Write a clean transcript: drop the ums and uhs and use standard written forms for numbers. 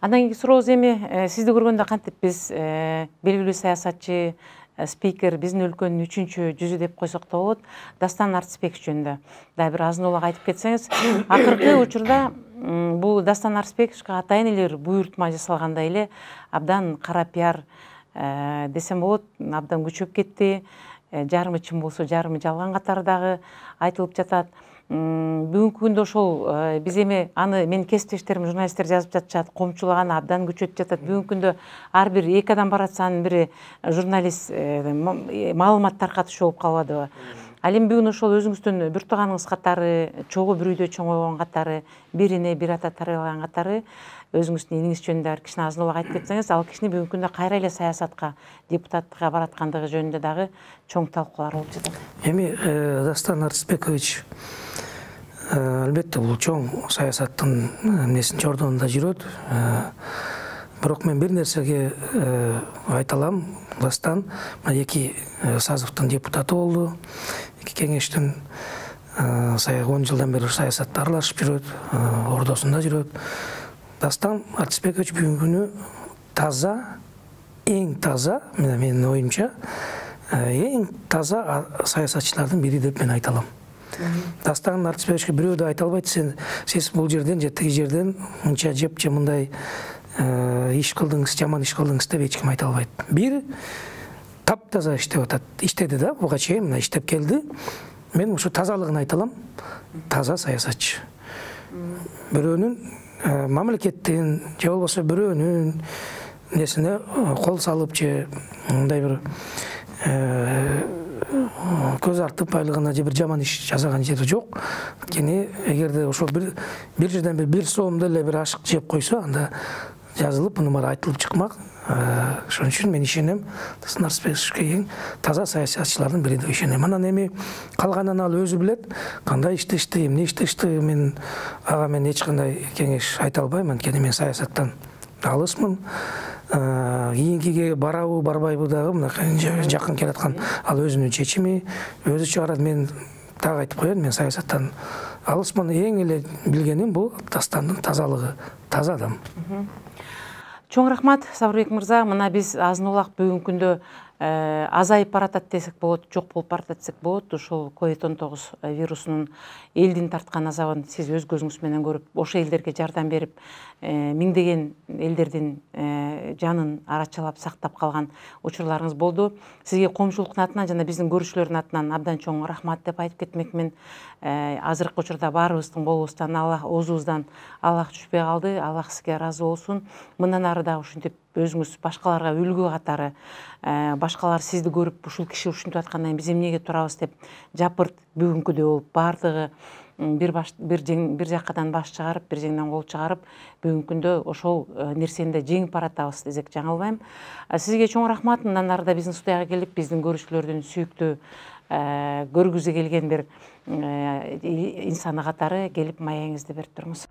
Андан кийинки сурообуз эми сизди көргөндө кантип биз белгилүү саясатчы, спикер, биздин өлкөнүн 3-жүзү деп койсок да болот, Дастан Арсбекович жөнүндө дагы бир азын улак айтып кетсеңиз. Акыркы учурда бул Дастан Арсбековичке атайын эле буйртма жасалгандай эле абдан кара пиар десем болот, абдан күчөп кетти. Жарымы чын болсо, жарымы жалган катары дагы айтылып жатат. Бүгүнкү күндө ошол биз эми аны менин кесиптештерим журналисттер жазып жатышат, коомчулук абдан күчөтүп жатат. Бүгүнкү күндө ар бир 2 адам баратса анын бири журналист маалымат таркатуучу болуп калбадыбы? Ал эми бүгүн ошол өзүңүздүн бир тууганыңыз катары, чогуу бир үйдө чоңойгон катары, бир эне бир ата тарбиялаган катары өзүңүздүн иниңиз жөнүндө бир кичине азын улак айтып кетсеңиз, ал кишини бүгүнкү күндө кайра эле саясатка, депутаттыкка бараткандыгы жөнүндө дагы чоң талкуулар болуп жатат. Эми Дастан Арсбекович албетте бул чоң саясаттын эмнесин жордонунда жүрөт. Бирок мен бир нерсеге айта алам. Дастан 2 сазывдын депутаты болду. 2 кеңештин 10 жылдан бери саясатта аралашып жүрөт, ордосунда жүрөт. Дастан Арсбекович бүгүнкү күнү таза, эң таза, менин оюмча, эң таза саясатчылардын бири деп мен айта алам. Дастан Арсбековичке бирөө да айта албайт, сиз бул жерден же тиги жерден мынча жеп же мындай иш кылдыңыз, жаман иш кылдыңыз деп эч ким айта албайт. Бир таптаза иштеп атат. Иштеди да, буга чейин мына иштеп келди. Мен ушу тазалыгын айта алам. Таза саясатчы. Бирөөнүн мамлекеттин же болбосо бирөөнүн несине кол салып же мындай бир көз артып байлыгына же бир жаман иш жасаган жери жок. Анткени эгерде ошол бир жерден бир соомдо эле бир ашык жеп койсо, анда жазылып, муну баары айтылып чыкмак. Ошон үчүн мен ишенем, Дастан Арсбековичке эң таза саясатчылардын бири деп ишенем. Анан эми калганын ал өзү билет, кандай иштешти, эмне иштешти. Мен эч кандай кеңеш айта албайм, анткени мен саясаттан алысмын. Кийинкиге барабы, барбайбы дагы мынакей жакын келаткан ал өзүнүн чечими, өзү чыгарат. Мен так айтып коеюн, мен саясаттан алысмын. Эң эле билгеним бул Дастандын тазалыгы, таза адам. Чоң рахмат, Сабырбек мырза. Мына биз азын улак бүгүнкү күндө азайып баратат десек болот, жок болуп баратат десек болот. Ушул COVID-19 вирусунун элдин тарткан азабын сиз өз көзүңүз менен көрүп, ошол элдерге жардам берип, миңдеген элдердин жанын арачалап сактап калган учурларыңыз болду. Сизге коомчулуктун атынан жана биздин көрүүчүлөрдүн атынан абдан чоң рахмат деп айтып кетмекмин. Азыркы учурда баарыбыздын колубуздан, оозубуздан Аллах түшпөй калды. Аллах сизге ыраазы болсун. Мындан ары дагы ушинтип өзүңүз башкаларга үлгү катары, башкалар сизди көрүп, ушул киши ушинтип аткандан кийин биз эмнеге турабыз деп жапырт бүгүнкүдөй болуп, баардыгы бир жакадан баш чыгарып, бир жеңден кол чыгарып, бүгүнкү күндө ошол нерсени да жеңип баратабыз десек жаңылбайм. Сизге чоң рахмат. Мындан ары да биздин студияга келип, биздин көрүүчүлөрдүн сүйүктүү көргүзү келген бир инсаны катары келип маегиңизди берип туруңуз.